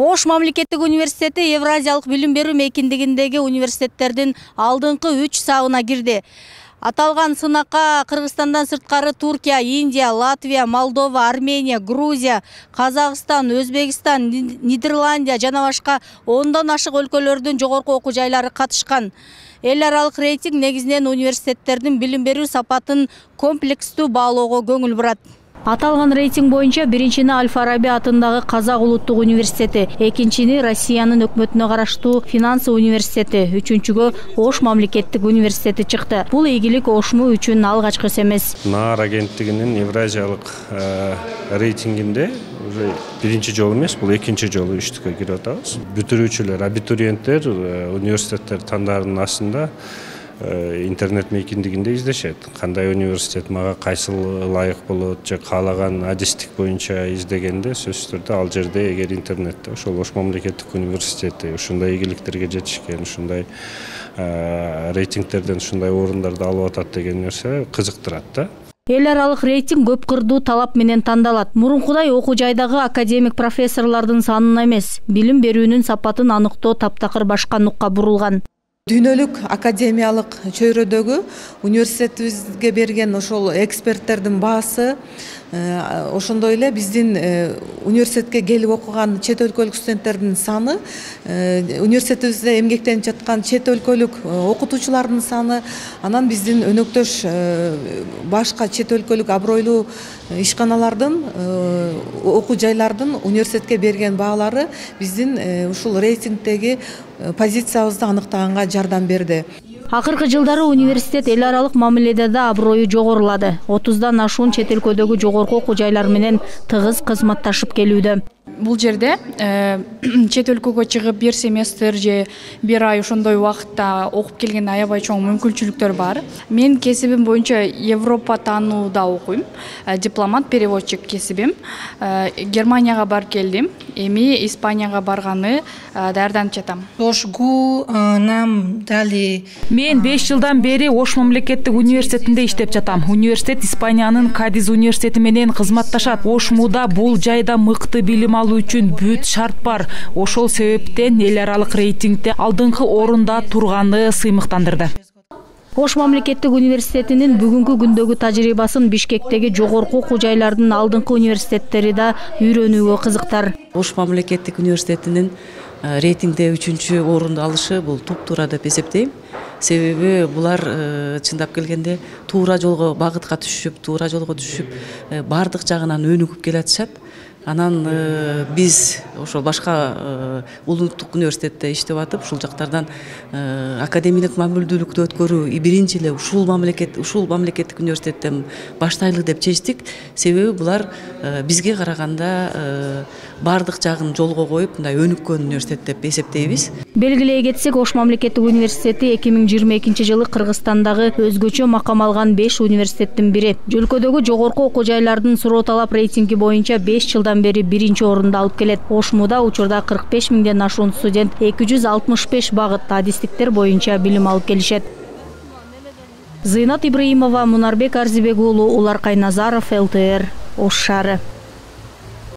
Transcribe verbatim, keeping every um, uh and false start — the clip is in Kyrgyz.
Ош мамлекеттик университети Евразиялык билим берүү мейкиндигиндеги университеттердин алдыңкы үч сабына кирди. Аталган сынакка Кыргызстандан сырткары Туркия, Индия, Латвия, Молдова, Армения, Грузия, Казакстан, Өзбекстан, Нидерландия жана башка ондон ашык өлкөлөрдүн жогорку окуу жайлары катышкан. Эл аралык рейтинг негизинен университеттердин билим берүү сапатын комплекстүү баалоого көңүл бурат. Аталган рейтинг боюнча биринчини Аль-Фараби атындагы Казак улуттук университети, экинчини Россиянын өкмөтүнө караштуу Финансы университети, үчүнчүгө Ош мамлекеттик университети чыкты. Бул ийгилик Ошму үчүн алгачкысы эмес. НААР агенттигинин Евразиялык рейтингинде уже биринчи жолу эмес, бул экинчи жолу үчтүккө кирип атабыз. Бүтүрүүчүлөр, абитуриенттер университеттер тандаарынын астында интернет мейкиндигинде издешет. Кандай университет мага кайсыл ылайык болот, же каалаган адистик боюнча издегенде сөзсүз түрдө ал жерде эгер интернетте ошол Ош мамлекеттик университети ушундай ийгиликтерге жетишкен, ушундай рейтингтерден ушундай орундарды алып атат деген нерсе кызыктырат да. Эл аралык рейтинг көп кырдуу талап менен тандалат. Мурункудай окуу жайдагы академик профессорлордун санына эмес, билим берүүнүн сапатын аныктоо таптакыр башка нукка бурулган. Дүйнөлүк академиялык чөйрөдөгү университетибизге берген ошол эксперттердин баасы, ошондой эле биздин университетке келип окуган чет өлкөлүк студенттердин саны, университетибизде эмгектенип жаткан чет өлкөлүк окутуучулардын саны, анан биздин өнөктөш башка чет өлкөлүк абройлуу ишканалардын, окуу жайлардын университетке берген баалары биздин ушул рейтингдеги позициябызды аныктаганга жардам берди. Акыркы жылдары университет эл аралык мамиледе да аброю жогорулады. отуздан ашуун чет өлкөдөгү жогорку окуу жайлар менен тыгыз кызматташып келүүдө. Бул жерде чет өлкөгө чыгып бир семестр же бир ай ошондой убакытта окуп келген аябай чоң мүмкүнчүлүктөр бар. Мен кесибим боюнча Европа таанууда окуйм. Дипломат, переводчик кесибим. Германияга барып келдим. Эми Испанияга барганы даярданып жатам. Ошгу нам дали. Мен беш жылдан бери Ош мамлекеттик университетинде иштеп жатам. Университет Испаниянын Кадиз университети менен кызматташат. Ошмуда бул жайда мыкты билим алуу үчүн бүт шарт бар. Ошол себептен эл аралык рейтингде алдыңкы орунда турганы сыймыктандырды. Ош мамлекеттик университетинин бүгүнкү күндөгү тажрыйбасын Бишкектеги жогорку окуу жайлардын алдыңкы университеттери да үйрөнүүгө кызыктар. Ош мамлекеттик университетинин рейтингде үчүнчү орунду алышы бул туп-туура деп эсептейм. Себеби булар чындап келгенде туура жолго багытка түшүп, туура жолго түшүп, бардык жагынан өнүгүп келатышат. Анан биз ошол башка улуттук университетте иштеп атып, ушул жактардан академиялык мамилдүүлүктү өткөрүү биринчи эле ушул мамлекет, ушул мамлекеттик университеттен баштайлы деп чечтик. Себеби булар бизге караганда бардык жагын жолго коюп, мындай өнүккөн университет деп эсептейбиз. Белгилей кетсек, Ош мамлекеттик университети эки миң жыйырма экинчи жылы Кыргызстандагы өзгөчө макам алган беш университеттин бири. Өлкөдөгү жогорку окуу жайлардын суроо талап рейтинги боюнча беш жылдан бери биринчи орунду алып келет. Ошмуда учурда кырк беш миңден ашуун студент эки жүз алтымыш беш багыт адистиктер боюнча билим алып келишет. Зыйнат Ибраимова, Мунарбек Арзибек уулу, Улар Кайназаров, эл тэ эр, Ош шаары.